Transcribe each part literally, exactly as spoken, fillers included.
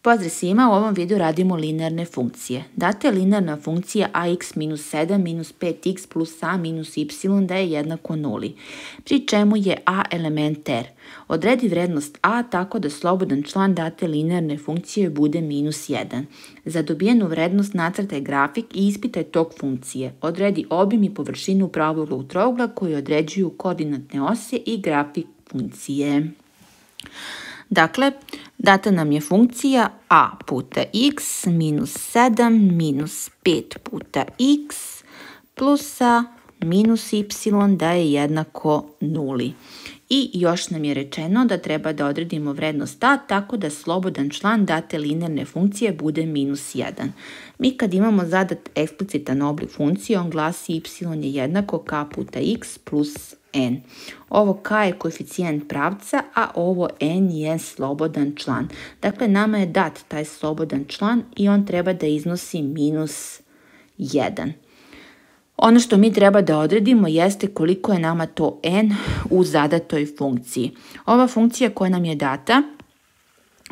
Pozdrav svima, u ovom videu radimo linearne funkcije. Data je linearna funkcija ax minus sedam minus pet x plus a minus y da je jednako nuli, pri čemu je a element r. Odredi vrednost a tako da slobodan član date linearne funkcije bude minus jedan. Za dobijenu vrednost nacrtaj grafik i ispitaj tok funkcije. Odredi obim i površinu pravog trougla koji određuju koordinatne ose i grafik funkcije. Dakle, data nam je funkcija a puta x minus sedam minus pet puta x plus a minus y da je jednako nuli. I još nam je rečeno da treba da odredimo vrednost a tako da slobodan član date linearne funkcije bude minus jedan. Mi kad imamo zadat eksplicitan oblik funkcije, on glasi y je jednako k puta x plus n. Ovo k je koeficijent pravca, a ovo n je slobodan član. Dakle, nama je dat taj slobodan član i on treba da iznosi minus jedan. Ono što mi treba da odredimo jeste koliko je nama to n u zadatoj funkciji. Ova funkcija koja nam je data,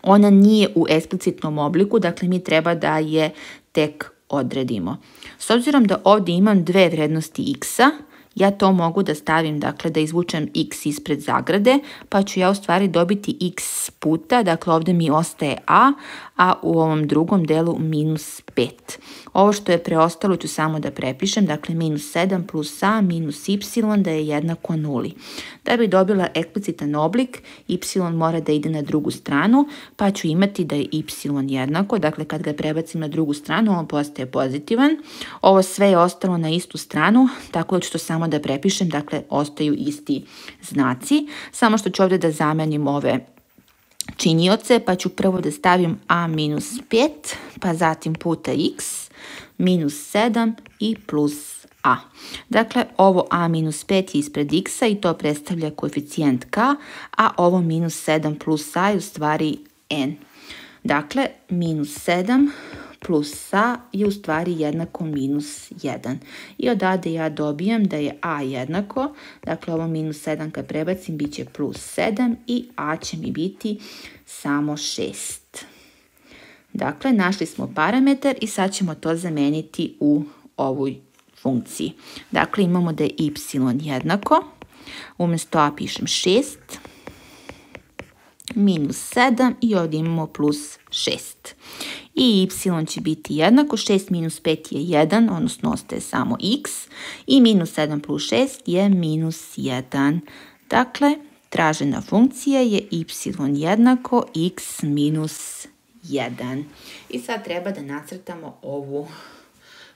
ona nije u eksplicitnom obliku, dakle mi treba da je tek odredimo. S obzirom da ovdje imam dve vrednosti x-a, ja to mogu da stavim, dakle da izvučem x ispred zagrade, pa ću ja u stvari dobiti x puta, dakle ovdje mi ostaje a, a u ovom drugom delu minus pet. Ovo što je preostalo ću samo da prepišem, dakle minus sedam plus a minus y da je jednako nuli. Da bi dobila eksplicitan oblik, y mora da ide na drugu stranu, pa ću imati da je y jednako, dakle kad ga prebacim na drugu stranu, on postaje pozitivan. Ovo sve je ostalo na istu stranu, tako da ću to samo da prepišem, dakle ostaju isti znaci, samo što ću ovdje da zamenim ove činioce, pa ću prvo da stavim a minus pet, pa zatim puta x, minus sedam i plus a. Dakle, ovo a minus pet je ispred x-a i to predstavlja koeficijent k, a ovo minus sedam plus a je u stvari n. Dakle, minus sedam plus a je u stvari jednako minus jedan. I odavde ja dobijem da je a jednako, dakle ovo minus sedam kad prebacim bit će plus sedam i a će mi biti samo šest. Dakle, našli smo parametar i sad ćemo to zameniti u ovoj funkciji. Dakle, imamo da je y jednako, umjesto a pišem šest, minus sedam i ovdje imamo plus šest. I y će biti jednako, šest minus pet je jedan, odnosno ostaje samo x, i minus sedam plus šest je minus jedan. Dakle, tražena funkcija je y jednako x minus jedan. I sad treba da nacrtamo ovu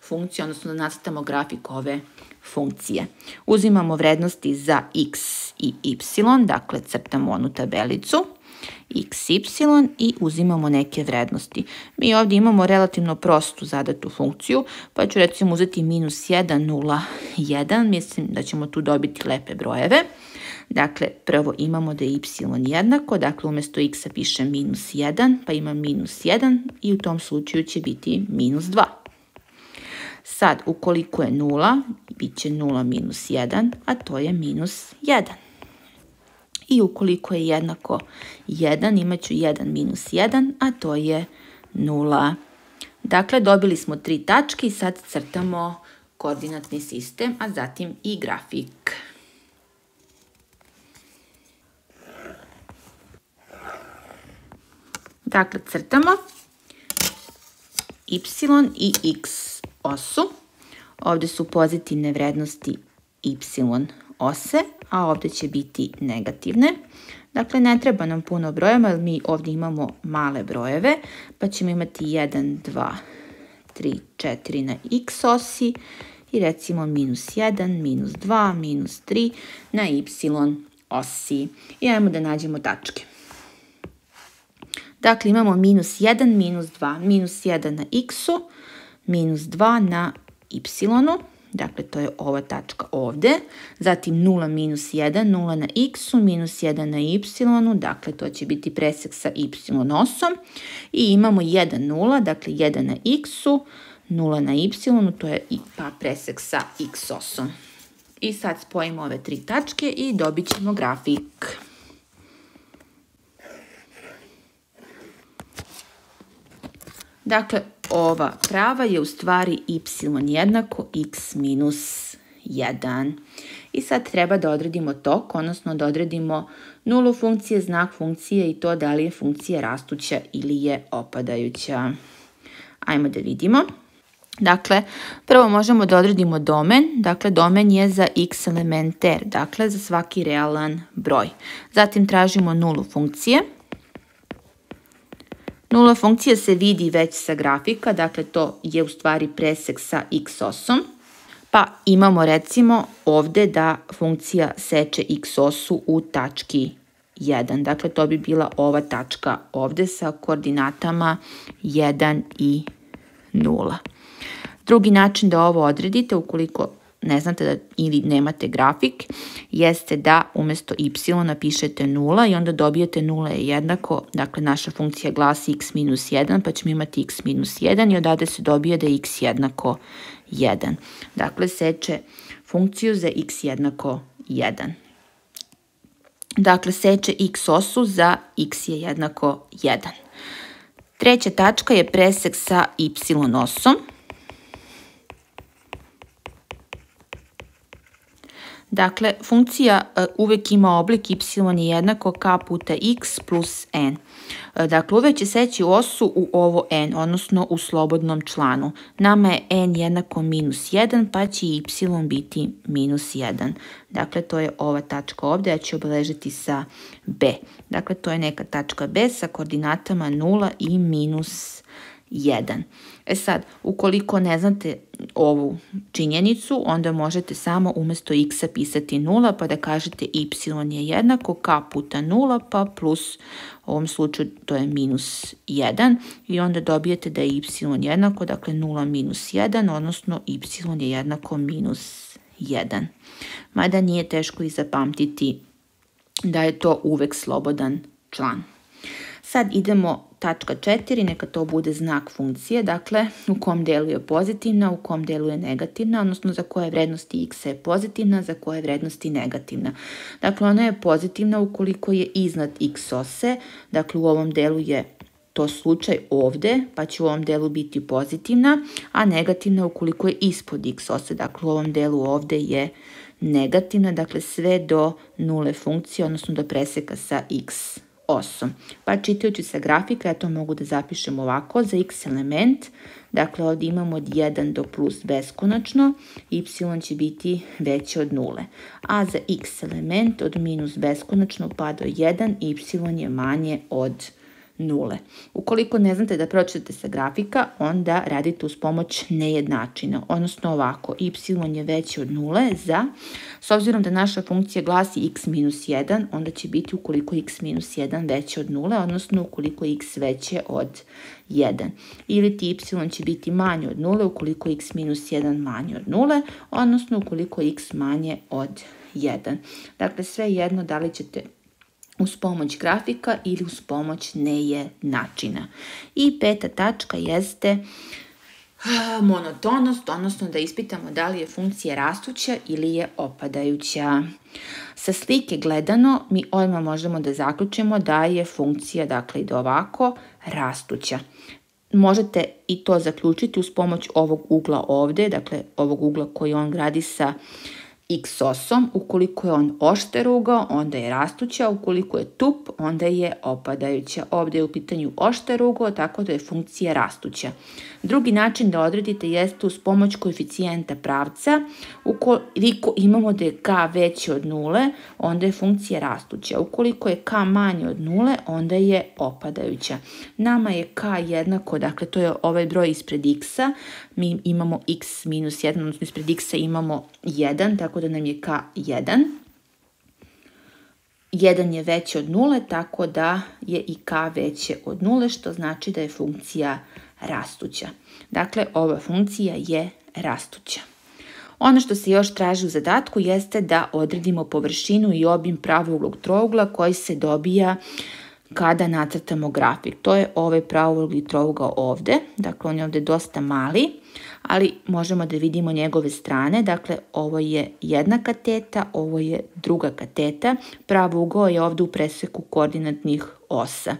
funkciju, odnosno da nacrtamo grafik ove funkcije. Uzimamo vrednosti za x i y, dakle crtamo onu tabelicu, x, y i uzimamo neke vrednosti. Mi ovdje imamo relativno prostu zadatu funkciju, pa ću recimo uzeti minus jedan, nula, jedan, mislim da ćemo tu dobiti lepe brojeve. Dakle, prvo imamo da je y jednako, dakle umjesto x-a pišem minus jedan, pa imam minus jedan i u tom slučaju će biti minus dva. Sad, ukoliko je nula, bit će nula minus jedan, a to je minus jedan. I ukoliko je jednako jedan, imat ću jedan minus jedan, a to je nula. Dakle, dobili smo tri tačke i sad crtamo koordinatni sistem, a zatim i grafik. Dakle, crtamo y i x osu. Ovdje su pozitivne vrednosti y ose, a ovdje će biti negativne. Dakle, ne treba nam puno brojeva, jer mi ovdje imamo male brojeve, pa ćemo imati jedan, dva, tri, četiri na x osi i recimo minus jedan, minus dva, minus tri na y osi. I ajmo da nađemo tačke. Dakle, imamo minus jedan, minus dva, minus jedan na x-u, minus dva na y-u, dakle to je ova tačka ovdje, zatim nula minus jedan, nula na x-u, minus jedan na y-u, dakle to će biti presek sa y-osom i imamo jedan, nula, dakle jedan na x-u, nula na y-u, to je pa presek sa x-osom. I sad spojimo ove tri tačke i dobit ćemo grafik. Dakle, ova prava je u stvari y jednako x minus jedan. I sad treba da odredimo tok, odnosno da odredimo nulu funkcije, znak funkcije i to da li je funkcija rastuća ili je opadajuća. Ajmo da vidimo. Dakle, prvo možemo da odredimo domen. Dakle, domen je za x element r, dakle za svaki realan broj. Zatim tražimo nulu funkcije. Nula funkcija se vidi već sa grafika, dakle to je u stvari presek sa x osom. Pa imamo recimo ovde da funkcija seče x osu u tački jedan. Dakle, to bi bila ova tačka ovde sa koordinatama jedan i nula. Drugi način da ovo odredite, ukoliko ne znate da, ili nemate grafik, jeste da umesto y napišete nula i onda dobijete nula je jednako, dakle naša funkcija glasi x minus jedan, pa ćemo imati x minus jedan i odade se dobije da je x jednako jedan. Dakle, seče funkciju za x jednako jedan. Dakle, seče x osu za x je jednako jedan. Treća tačka je presek sa y osom. Dakle, funkcija uvek ima oblik y je jednako k puta x plus n. Dakle, uvek će seći osu u ovo n, odnosno u slobodnom članu. Nama je n jednako minus jedan, pa će y biti minus jedan. Dakle, to je ova tačka ovde, ja ću obeležiti sa b. Dakle, to je neka tačka b sa koordinatama nula i minus jedan. E sad, ukoliko ne znate ovu činjenicu, onda možete samo umesto x pisati nula, pa da kažete y je jednako k puta nula, pa plus, u ovom slučaju to je minus jedan, i onda dobijete da je y jednako, dakle nula minus jedan, odnosno y je jednako minus jedan. Mada nije teško i zapamtiti da je to uvek slobodan član. Sad idemo tačka četiri, neka to bude znak funkcije, dakle u kom delu je pozitivna, u kom delu je negativna, odnosno za koje vrednosti x je pozitivna, za koje vrednosti negativna. Dakle, ona je pozitivna ukoliko je iznad x ose, dakle u ovom delu je to slučaj ovde, pa će u ovom delu biti pozitivna, a negativna ukoliko je ispod x ose, dakle u ovom delu ovde je negativna, dakle sve do nule funkcije, odnosno do preseka sa x osom. Pa čitajući sa grafika, ja to mogu da zapišem ovako, za x element, dakle ovdje imamo od jedan do plus beskonačno, y će biti veće od nule. A za x element od minus beskonačno pa do jedan, y je manje od nule. Ukoliko ne znate da pročitate sa grafika, onda radite uz pomoć nejednačina, odnosno ovako, y je veće od nule za, s obzirom da naša funkcija glasi x minus jedan, onda će biti ukoliko x minus jedan veće od nule, odnosno ukoliko x veće od jedan. Ili ti y će biti manje od nule ukoliko x minus jedan manje od nule, odnosno ukoliko x manje od jedan. Dakle, sve jedno da li ćete uz pomoć grafika ili uz pomoć nejednačina. I peta tačka jeste monotonost, odnosno da ispitamo da li je funkcija rastuća ili je opadajuća. Sa slike gledano mi odmah možemo da zaključimo da je funkcija, dakle ide ovako, rastuća. Možete i to zaključiti uz pomoć ovog ugla ovde, dakle ovog ugla koji on gradi sa x osom. Ukoliko je on oštar ugao, onda je rastuća, ukoliko je tup, onda je opadajuća. Ovdje je u pitanju oštar ugao, tako da je funkcija rastuća. Drugi način da odredite jeste uz pomoć koeficijenta pravca. Ukoliko imamo da je k veće od nule, onda je funkcija rastuća. Ukoliko je k manje od nule, onda je opadajuća. Nama je k jednako, dakle to je ovaj broj ispred x-a, mi imamo x minus jedan, odnosno ispred x-a imamo jedan, tako da nam je k jedan. jedan je veće od nule, tako da je i k veće od nule, što znači da je funkcija rastuća. Dakle, ova funkcija je rastuća. Ono što se još traži u zadatku jeste da odredimo površinu i obim pravouglog trougla koji se dobija kada nacrtamo grafik. To je ovaj pravouglih trougao ovde, dakle on je ovde dosta mali, ali možemo da vidimo njegove strane, dakle ovo je jedna kateta, ovo je druga kateta, pravougao je ovde u preseku koordinatnih osa.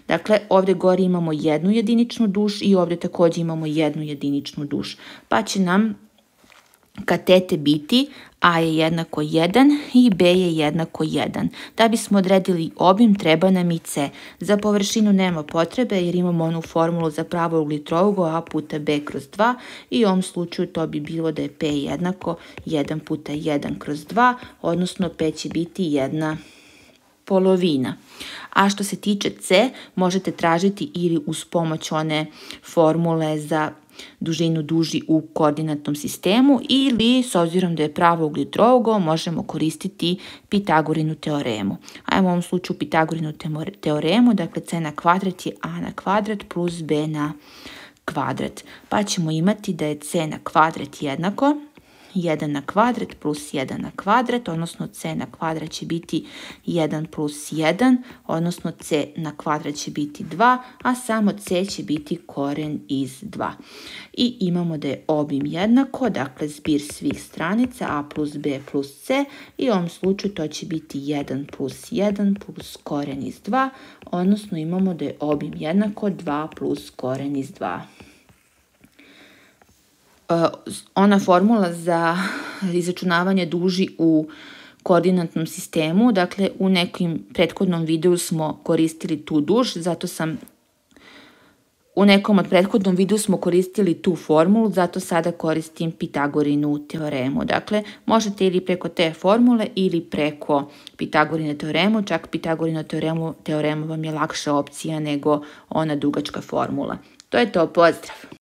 Dakle, ovde gore imamo jednu jediničnu duž i ovde takođe imamo jednu jediničnu duž, pa će nam katete biti A je jednako jedan i B je jednako jedan. Da bismo odredili obim, treba nam i C. Za površinu nema potrebe jer imamo onu formulu za pravougli trougao A puta B kroz dva i u ovom slučaju to bi bilo da je P jednako jedan puta jedan kroz dva, odnosno P će biti jedna polovina. A što se tiče C, možete tražiti ili uz pomoć one formule za dužinu duži u koordinatnom sistemu ili, s obzirom da je pravougli trougao, možemo koristiti Pitagorinu teoremu. Ajmo u ovom slučaju Pitagorinu teoremu, dakle C na kvadrat je A na kvadrat plus B na kvadrat. Pa ćemo imati da je C na kvadrat jednako jedan na kvadrat plus jedan na kvadrat, odnosno C na kvadrat će biti jedan plus jedan, odnosno C na kvadrat će biti dva, a samo C će biti koren iz dva. I imamo da je obim jednako, dakle zbir svih stranica A plus B plus C i u ovom slučaju to će biti jedan plus jedan plus koren iz dva, odnosno imamo da je obim jednako dva plus koren iz dva. Ona formula za izračunavanje duži u koordinatnom sistemu, dakle u nekim prethodnom videu smo koristili tu duž, zato sam u nekom od prethodnom videu smo koristili tu formulu, zato sada koristim Pitagorinu teoremu. Dakle, možete ili preko te formule ili preko Pitagorine teoremu, čak Pitagorina teoremu, teoremu vam je lakša opcija nego ona dugačka formula. To je to, pozdrav!